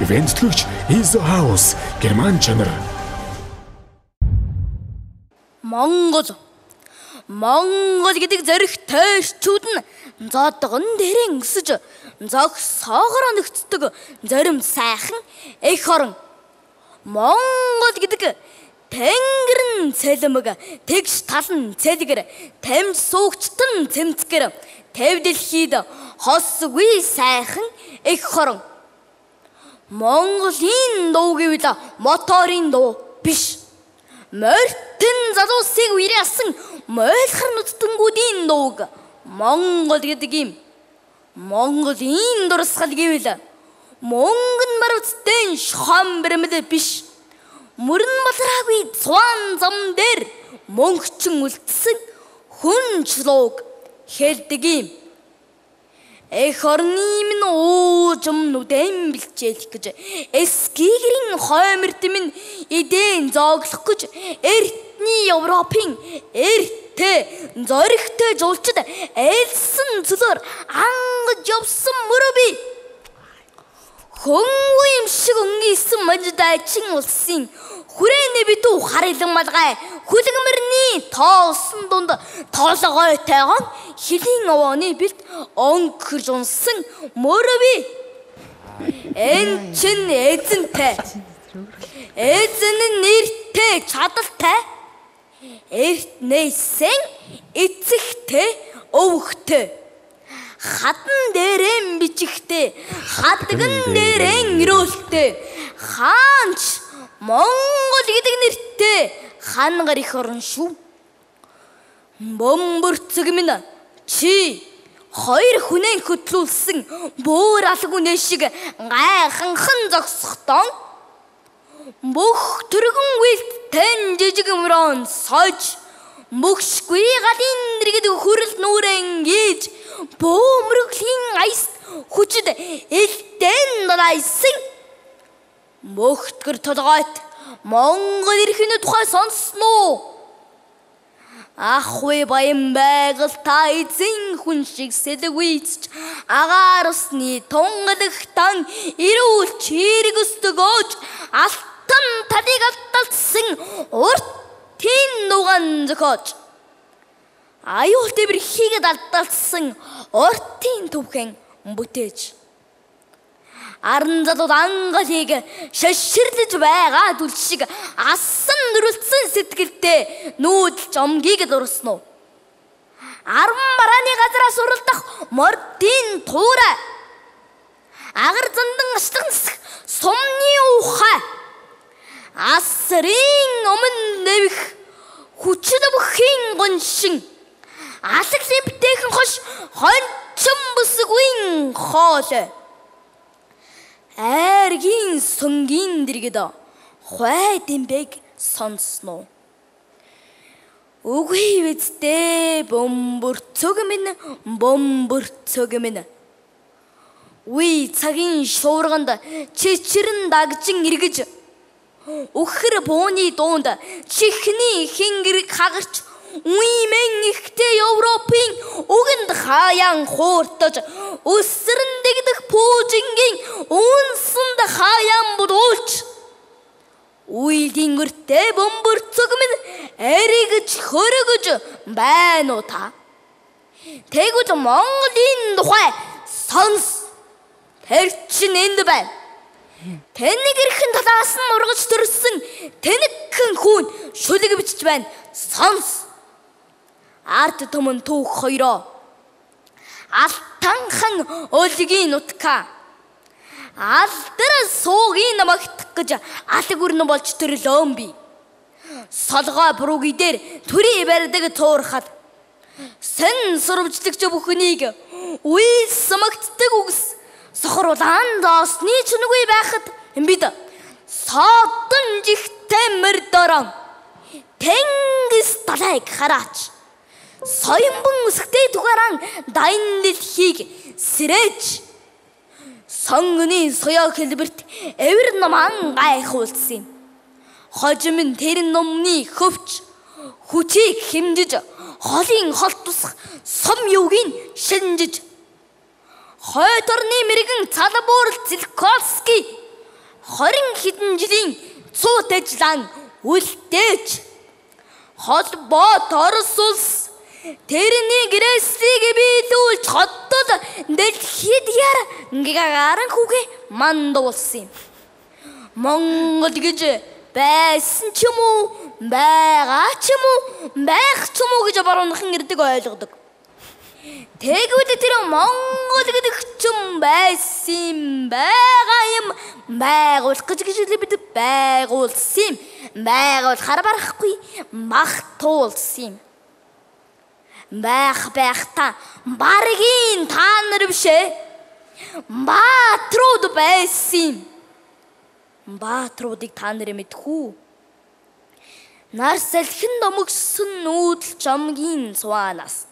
Ивентлэгч Изо Хаус Герман чанар. Монгол гэдэг зоригтой эрчүүд нь зодгон дээрэн өсөж зогсоогоор нэгддэг зарим сайхан эх орон. Монгол гэдэг тэнгэрэн цэлмэг тэгш талан цэлгэр тамж суугчтан цэмцгэр тэв дэлхийд хосгүй сайхан эх орон. Монголын дуу гэвэл моторын дуу биш. Морьтын залуусыг уриалсан мойлхор нүцтэнгүүдийн дууг Монгол гэдэг юм. Монголын дурсгал гэвэл мөнгөн баруцтай шохон бэрмэл биш. Мөрөн балраагүй цуан зам дээр мөнгөчин үлдсэн хүнч лууг хэлдэг юм. Эх орны минь уужим нүдэн бэлчээлэх гэж эскигэрийн хойморт минь эдэн зооглох гэж эртний Европын эрттэй зоригтой жуулчид ээлсэн цөлөөр ангаж явсан мөрөби. Хөнгөө юм шиг өнгийсэн мажидайчин улсын хүрээний битүү харилан малгай хүлэгмэрний тоосон дунд тоолгойтойгон хилийн овооны бэлт өнгөрж унсан мөрөби. Эн чин эзэнтэй. Эзэн нь нэртэй чадалтай. Эртнээсэн эцэгтэй өвгтэй. Хатан дээрэн бичихтэй, хадган дээрэн өрөөлтэй. Хаанч Монгол гэдэг нэртэй хангаар их орн шүү. Бомбөрцөг минь чи хоёр хүнээ хөтлүүлсэн бөөр алгуу нэшиг гайханхан зогсохдоо бүх төргөн үйлт тань жижиг мөрөн сож мөхшгүй галын дэргэд хүрэл нүрэн гээж бөөмрөглийн айс хүчд элтэн дайсан мөхтгөр толгойт Монгол эрхний тухай сонсноо. Ахуй баян байгаль та эзэн хүн шиг сэлгүйцч агаар усны тунгалагтан ирүүл чирэг өстөгөөж алтан талыг алдалсан уртын нуган зөхөөж аюул тэмэр хийгээд алдалсан уртын төвхэн бүтээж аран залууд ангалыг шаширлж байгаа дүл шиг асан дөрөлдсөн сэтгэлтэй нүүдэлж омгийг дурсноо. Аран барааны газраас уралдах мордын туурай агар зандан ашлахнсах сумны ухай асрын өмнө нэвх хүчит бүхийн гоншин алаглын битээхэн хош хончон бүсгүй хоол Эргийн сөнгийн дэргэд хой дэмбэг сонсноо. Үгүй вэзтэй бомбөрцөг минь. Уй цагийн шуурганд чичрэн дагжин эргэж өхөр бууны дуунд чихний хингэрэг хагарч уймэн ихтэй Европын үгэнд хаяан хууртаж өсрэн дэгдэх пуужингийн үнсэнд хаяан будуулж уйлын өртөө бомбөрцөг минь эргэж хөргөж байна уу та? Тэгвэл Монголын тухай сонс. Тэр чинь энд байна. Тэнэг эрхэн талаас нь ургаж төрсөн тэнэгхэн хүн шүлэг бичиж байна. Сонс. Арт төмөн түүх хоёроо алтанхан өлгийн нутка алдар суугийн намагтах гэж алг өрнө болж төрлөөн би солгоо бүрүүги дээр төрий барьдаг туурхад сэн сурвжлагч бүхнийг үйлс магтдаг үгс сохруулан доосны чүнгүй байхад бид содон жигтэй мөрдөрөн тэнгис талайг хараач соёмбон өсгтэй тугаран дайн дэлхийг сэрэж сонгоны соёо хэлбэрт эвэр наман гайхуулсан юм. Хожим тэрэн номны хөвч хүчийг хэмжиж холын холт тусах сум юугийн шинжиж хойторны мэрэгэн цалбуур Зилковский 20 хэдэн жилийн цуут ажиллан үлдээж холбоот Орос улс тэрний гэрээсийг биелүүлж хотод дэлхийд гарan хүүгээ мандуулсан юм. Монгол гэж байсан ч юм уу, байгаа ч юм уу, байх ч юм уу гэж баруунхан ирдэг ойлгодог. Тэгвэл тэр Монгол гэдэг ч байсан байгаа юм байгуулах гэж бид байгуулсан юм. Байгуулахаар барахгүй магтуулсан юм. Байх та баргийн та нар биш ээ. Баатрууд байсан юм. Баатруудыг та нар мэдхүү. Нар салхин домогсон нүүдэл жамгийн цуанаас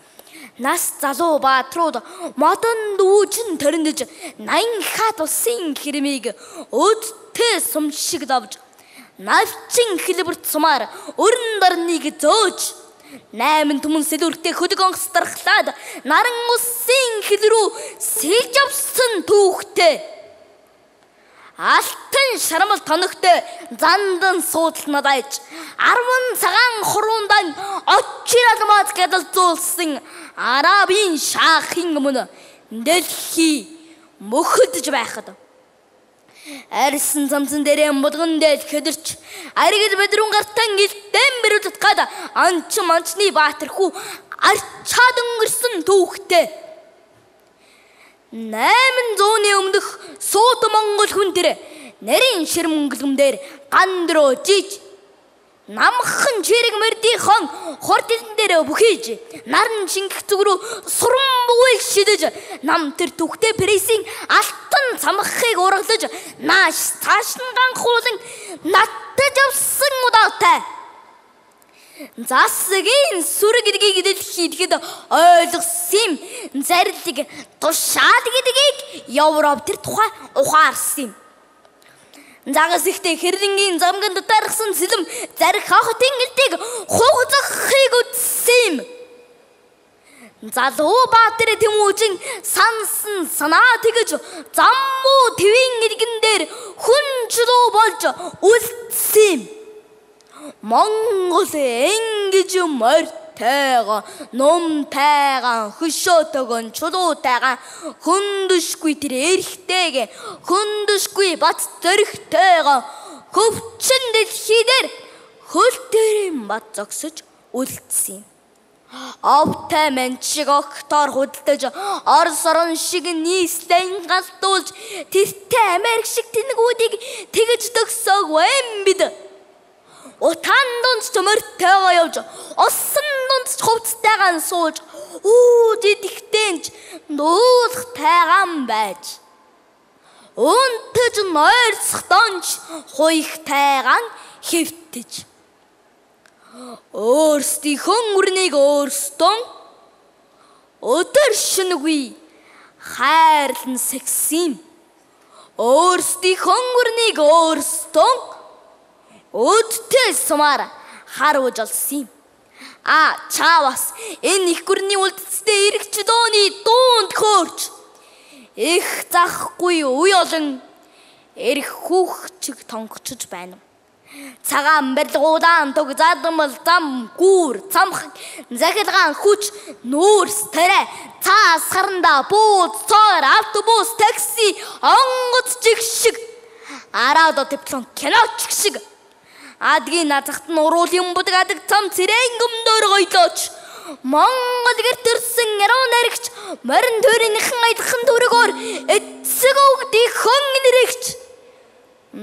нас залуу баатрууд модон дүүжин төрөндөж 80 хат усын хэрмийг өдтэй сумшиг давж навчин хэлбэрт сумаар өрн дорныг зөөж 8 түмэн сэлүүртэй хөдөг онгоцторхлаад наран усын хэл рүү сэлж авсан түүхтэй алтан шармал тоногтой зандан суудлнад айж 10 цагаан хуруундаа очир алмаз гэдэлзүүлсэн арабын шахын өмнө дэлхий мөхөдөж байхад арьсан замсан дээрээ модгон дэлхэдэрч аригд бэдрүүн гартан гэлтэн бэрүүд тад анч манчны баатархүү арчаад өнгөрсөн түүхтэй 800-ны өмнөх Сууд Монгол хүн тэр нарийн ширмэнгэлгэмдэр гандроо жиж намхан чирэг мөрдийнхон хортон дээр бүхийж наран шингэх зүг рүү суран бүгийг шидэж нам тэр түхтэй прессийн алтан цамхыг ургалж нааш цааш нь ганхуулан наттаж авсан удаатай засгийн сүр гэдгийг дэлхийд ойлгосон юм. Зарлиг тушаад гэдгийг Европ тэр тухай ухаарсан юм. Загас ихтэй хэрэнгийн замган дотаархсан сэлэм зарих хотын гэлтийг хугацахыг үтсэн юм. Залуу баатар тэмүүжин сансан санаа тэгж заммуу твийн иргэн дээр хүн чулуу болж үлдсэн юм. Монгол ингэж морьтойгоо номтойгоо хөшөөтойгоо чулуутойгоо хүндүшгүй тэр эрхтэйгээ хүндүшгүй бат зөрөгтойгоо хөвчин дэлхийдэр хөл дээрэн бат зогсож үлдсэн юм. Овтай менчиг октор худалдаж Орос орон шиг нийслэн галтуулж тэртээ Америк шиг тэнэгүүдийг тэгж төгсөөгүй юм бид. Утан дунд морьтойгоо явж усан дунд хувцтайгаан сууж дидихтэнч нуулах тайгаан байж өнтөж нойрсох донч хуйх тайгаан хэвтэж өөрсдийнхөө үрнийг өөрсдөө өдөр шөнөгүй хайрлан сэгсэн өөрсдийнхөө үрнийг өөрсдөө өдтэй сумаар харуулж олсон юм. Чаавас энэ их гүрний үлдэцтэй эрэгч дооны дуунд хөөрч их захгүй үе олон эрх хүүхчиг тонгочж байна. Цагаан барилгуудаан туг задамал зам гүүр цамх захилгаан хүч нүүрс тэрэ цаас харанда бууд цоор автобус такси онгоц жигшиг араадо диплом киноч шиг адгийн назахт нь уруулын будгадаг цам цэрээн гомдоор гойлооч Монгол гэртэрсэн яруу наригч морин төрийнхэн айдхан төрөгөөр эцэг өгдий хон нэрэгч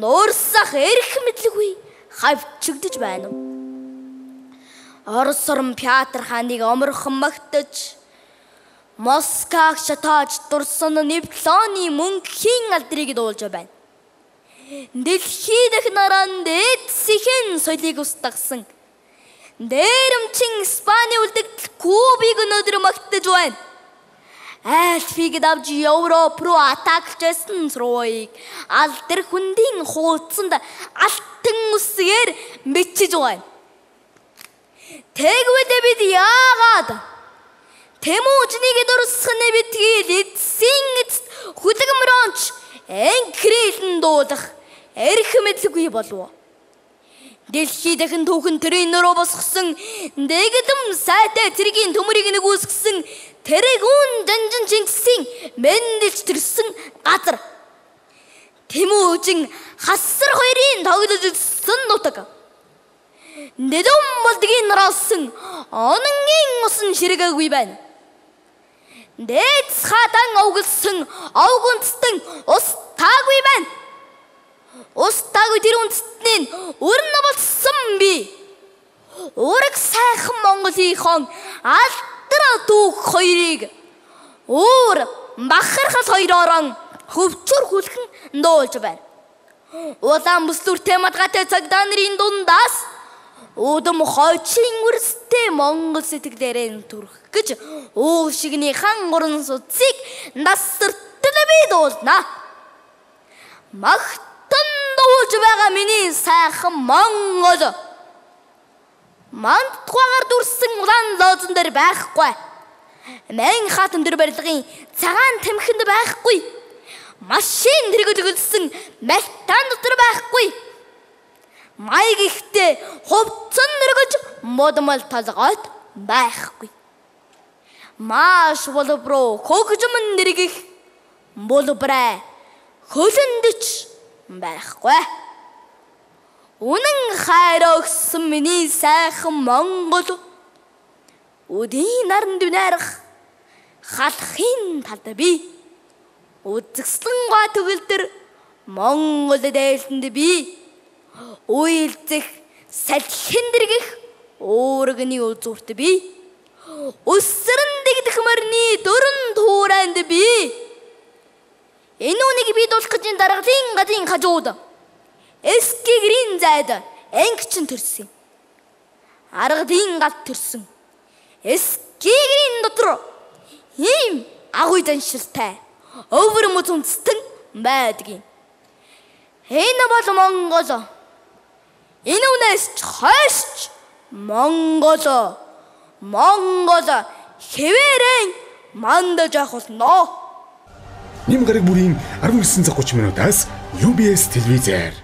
нуурсах эрх мэдлгүй хавчигдж байна. Орос орн Петр хааныг оморхон магтаж Москваг шатааж дурсан дипломны мөнхийн алдрыг дуулж байна. Дэлхий дэх наран дээдсийн соёлыг устгасан дээрэмчин Испани үлдэгдэл Кубыг өнөөдөр магтаж байна. Альфиг давж Европ руу атакчсан црууийг алдар хүндийн хуудсанд алтан үсгээр бичиж байна. Тэгвэл бид яагаад Тэмүүжнийг дурсахны битгий эцсийн эцэст хүлэгмөрөнч энкрилэн дуулах эрх мэдлгүй болов. Дэлхий дахин түүхэн тэрийнөрөө босгосон дэгэдэм сайтай цэргийн төмөрийг нэгүсгэсэн тэрэгүүн жанжин Чингисийн мэндэлж төрсөн газар. Тэмүүжин хасар хоёрын тоглож өссөн нутаг. Нэдэм болдгийн нараасан ононгийн усан ширгээгүй байна. Дээдс хадан овгөлсөн овгүнцтэн ус таагүй байна. Ус таагүй тэр үндэстний өрн болсон би. Ураг сайхан Монголынхон алдраа дүүх хоёрыг өөр бахархал хоёроор хөвчөр хүлхэн дуулж байна. Улаан бүслүртэй мадгатай цагдаа нарын дундаас удам хойчин үрстэй Монгол сэтгэлээрэн төрөх гэж уушигны хан гурван судсыг насартал би дуулна. Магтан дуулж байгаа миний сайхан Монгол. Мантхугаар дүрсэн улаан лоозон дээр байхгүй. Мэн хатан дээр барилгын цагаан тамхинд байхгүй. Машин тэргэлсэн малтан дотор байхгүй. Маяг ихтэй хувцсан нэргэж модмал талгайд байхгүй. Маш болброо хөгжмөн нэргих болбраа хөлөндч байхгүй. Үнэн хайрогсон миний сайхан Монгол. Өдийн наран дүнарах халахын талд би үзэсгэлэн га төгөлдөр Монгол дээлтэнд би уйлзэх салхин дэргэх өөргөний үзүүрт би өсрөн дэгдэх мөрний дөрөн туурайнд би энэ үнийг би дуулах гэж даргалын гадын хажууд эскигрийн зайд ангичин төрсөн. Аргадын гад төрсөн. Эскигрийн дотор ийм агуй заншилтай өвөр мөцөнцтэн байдгийн. Энэ бол Монгол. Энэ үнээс хойш Монгол хэвээрэн мандаж явах болно. Ним гараг бүрийн 19:30 минутаас UBS телевизээр